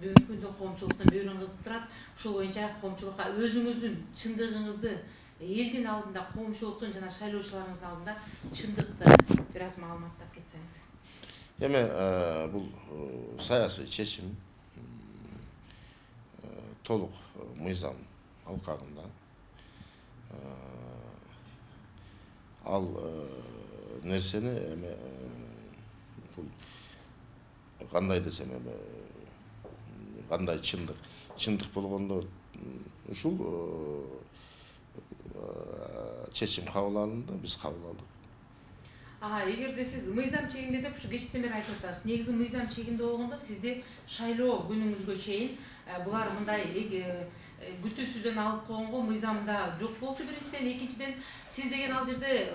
бүгүнкү күндө коомчулуктун бөөрүн кызып турат. Ошол боюнча коомчулукка өзүңүздүн чындыгыңызды элдин алдында, коомчулуктун жана шайлоочуларыңыздын алдында чындыкты бир аз маалыматтап кетсеңиз. Эми бул саясий чечим толук мыйзам алкагында. Ал нерсени эми бул кандай десем эми кандай чындык болгондо ушул чечим кабыл алынды, биз кабыл алдык. Эгерде сиз мыйзам чегинде деп ушу кечтен бери айтып атасыз. Негизи мыйзам чегинде болгондо сизде шайлоо күнүңүзгө чейин булар мындай күтүүсүздөн алып койгонго мыйзамда жок болчу биринчиден, экинчиден сиз деген ал жерде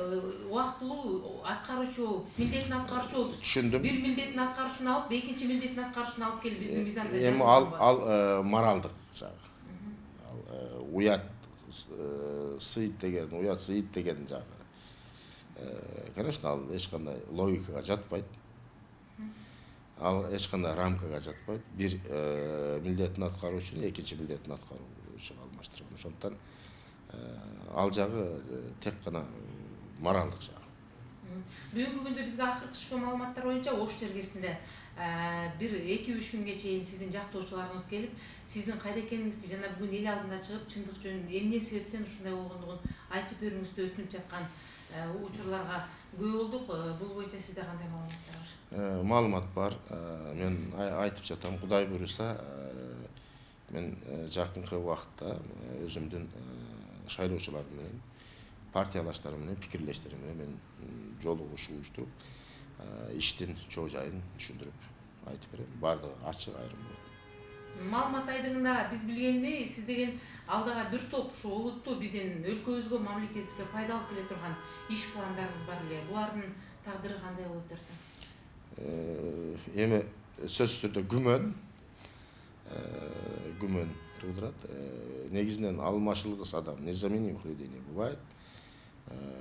убактылуу аткаруучу, милдетин аткаруучу болупсуз. Түшүндүм. Бир милдетин аткаруучуну алып, экинчи милдетин аткаруучуну алып келип биздин мыйзамда эми ал моралдык жагы. Ал уят сыйыт деген, уят сыйыт деген жагы. Конечно, ал эч кандай логикага жатпайт. Ал эч кандай рамкага жатпайт. Бир милдетин аткаруучуну экинчи милдетин аткаруучуга алмаштырган. Ошондуктан ал жагы тек гана моралдык жагы. Бүгүнкү күндө бизге акыркы түшкөн маалыматтар боюнча Ош чергесинде бир 2-3 күнгө чейин сиздин жактоочуларыңыз келип, сиздин кайда экениңизди жана бүгүн эл алдына чыгып чындык жөнүндө эмне себептен ушундай болгондугун айтып берүүңүздү өтүнүп жаткан учурларга күбө болдук. Бул боюнча сизде кандай маалыматтар бар? Маалымат бар. Мен айтып жатам, Кудай буюрса, мен жакынкы убакытта өзүмдүн шайлоочуларым менен, партиялаштарым менен, пикирлештерим менен мен жолугушуп уюштуруп, иштин чоо жайын түшүндүрүп айтып берем. Бардыгы ачык, айрым. Маалымат айдыңында биз билгендей, сиз деген алдыга бир топ ушу олуттуу биздин өлкөбүзгө, мамлекетибизге пайдалуу келе турган иш пландарыңыз бар эле. Булардын тагдыры кандай болот эртең? Эми сөзсүз түрдө күмөн туудурат. Негизинен алмашылгыс адам, незамени ухледение бывает.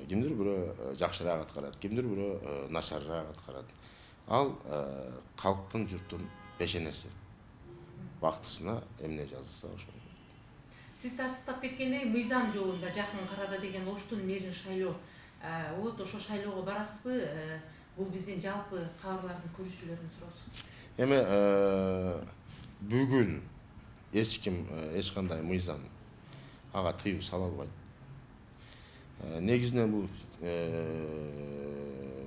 Кимдир бирөө жакшыраак аткарат, кимдир бирөө начарыраак аткарат. Ал калктын, журттун пешенеси. Бактысына эмне жазылса ошол. Сиз тастыктап кеткендей, мыйзам жолунда жакын карада деген Оштун мэрин шайлоо болот. Ошо шайлоого барасызбы? Бул биздин жалпы кабарлардын көрүүчүлөрүнүн суроосу. Эми бүгүн эч ким эч кандай мыйзам ага тыюу сала албайт. Негизинен бул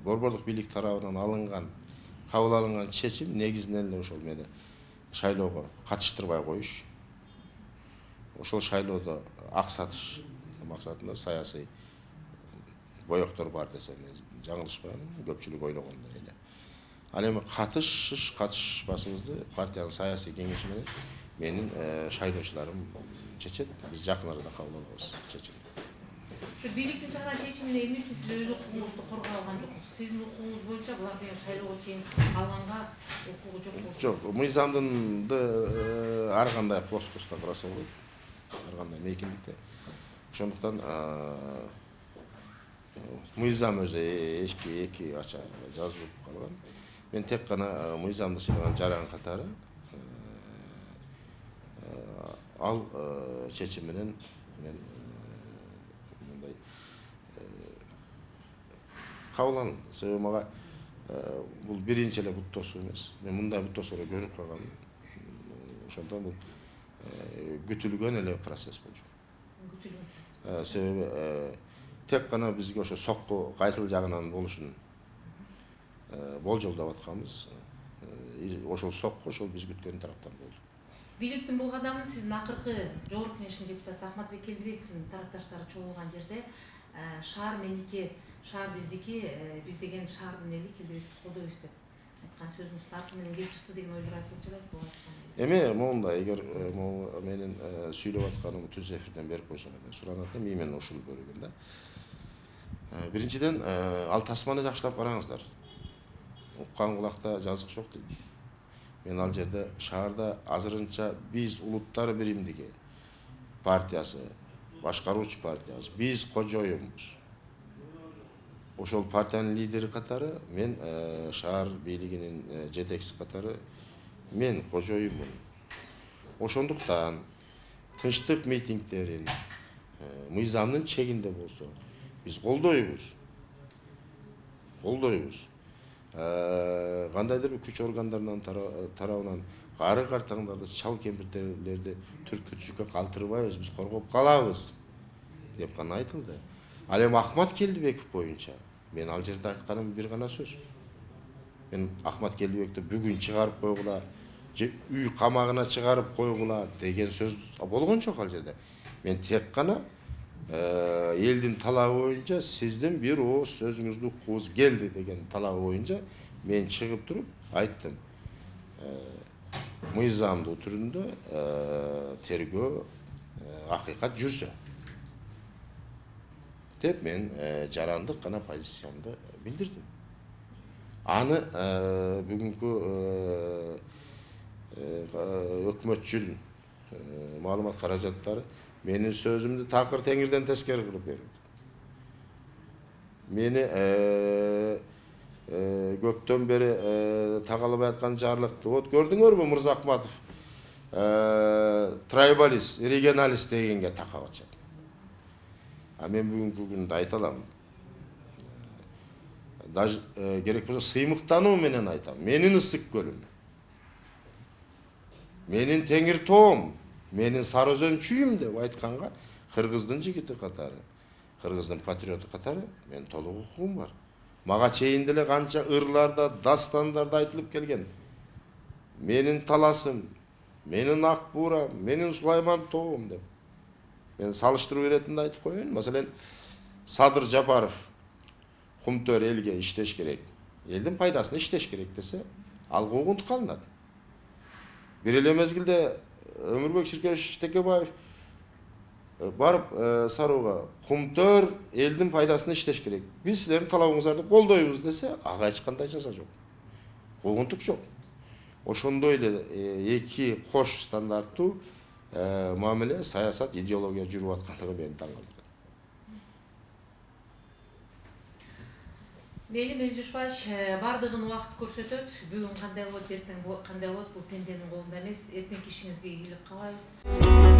борбордук бийлик тарабынан кабыл алынган чечим негизинен эле ошол мени шайлоого катыштырбай коюш. Ошол шайлоодо ак сатыш максатында саясий боектор бар десем жаңылышпайм, көпчүлүк ойлогондой эле. Ал эми катышышпасыбызды партиянын саясий кеңеши менен менин шайлоочуларым чечет. Биз жакын арада кабыл алабыз чечим. Ушу бийликтин чыгарган чечимине эмне үчүн сиз өз укугуңузду коргой алган жоксуз? Сиздин укугуңуз боюнча булар деген шайлоого чейин алганга укугу жок болчу. Жок, мыйзамдынды ар кандай плоскостьта караса болот. Ар кандай мейкиндикте. Ошондуктан мыйзам өзү эки ача жазылып калган. Мен тек гана мыйзамды сыйлаган жаран катары ал чечим менен мен мындай кабыл алынды. Себеби мага бул биринчи эле бут тосуу эмес. Мен мындай бут тосоого көнүп калгам. Ошондон бул күтүлгөн эле процесс болчу. Себеби тек гана бизге ошо сокку кайсыл жагынан болушун болжолдоп атканбыз. Ошол сокку ошол биз күткөн тараптан болду. Бийликтин бул кадамын сиздин акыркы жогорку кеңештин депутаты Ахматбек Келдибековдун тарапташтары чогулган жерде шаар меники, шаар биздики, биз деген шаардын эли Келдибекти колдойбуз деп айткан сөзүңүз тарты менен келип чыкты деген ойлор айтылып жатат. Эми моундай, эгер менин сүйлөп атканым түз эфирден берип койсоң деп суранат элем, именно ушул бөлүгүндө. Биринчиден, ал тасманы жакшылап караңыздар. Уккан кулакта жазык жок дейт. Мен ал жерде шаарда азырынча биз улуттар биримдиги партиясы, башкаруучу партиябыз, биз кожоюнбуз. Ошол партиянын лидери катары мен шаар бийлигинин жетекчиси катары мен кожоюнмун. Ошондуктан тынчтык митингдерин мыйзамдын чегинде болсо биз колдойбуз. Кандайдыр бир күч органдарынын тарабынан кары картаңдарды, чал кемпирлерди түркүтчүккө калтырбайбыз, биз коргоп калабыз деп гана айтылды. Ал эми Ахмат Келдибеков боюнча мен ал жерде айтканым бир гана сөз. Мен Ахмат Келдибекти бүгүн чыгарып койгула же үй камагына чыгарып койгула деген сөз болгон жок ал жерде. Мен тек гана элдин талабы боюнча сиздин бир ооз сөзүңүздү уккубуз келди деген талабы боюнча мен чыгып туруп айттым. Мыйзамдуу түрүндө тергөө акыйкат жүрсө деп мен жарандык гана позициямды билдирдим. Аны бүгүнкү өкмөтчүл маалымат каражаттары менин сөзүмдү такыр теңирден тескери кылып берди. Мени көптөн бери тагалбай аткан жарлыкты вот көрдүңөрбү Мырзахматов трайбалист, регионалист дегенге такап атышат. А мен бүгүнкү күндө айта алам. Даже керек болсо сыймыктануу менен айтам. Менин ысык көлүм, менин теңир тоом, менин сары өзөн чүйүм деп айтканга кыргыздын жигити катары, кыргыздын патриоту катары мен толук укугум бар. Мага чейин деле канча ырларда, дастандарда айтылып келген. Менин таласым, менин ак буурам, менин Сулайман тоом деп. Мен салыштыруу иретинде айтып коеюн. Маселен, Садыр Жапаров Кумтөр элге иштеш керек, элдин пайдасына иштеш керек десе, ал куугунтук алынат. Бир эле мезгилде Өмүрбек Ширкеевич Текебаев барып Сарууга Кумтөр элдин пайдасына иштеш керек. Биз силердин талабыңыздарды колдойбуз десе, ага эч кандай жаза жок. Куугунтук жок. Ошондой эле эки кош стандарттуу мамиле, саясат, идеология жүрүп аткандыгы мени таң калтырат. Мейли Мелжушбаевич, бардыгын убакыт көрсөтөт. Бүгүн кандай болот, эртең кандай болот, бул пенденин колунда эмес. Эртеңки ишиңизге ийгилик каалайбыз.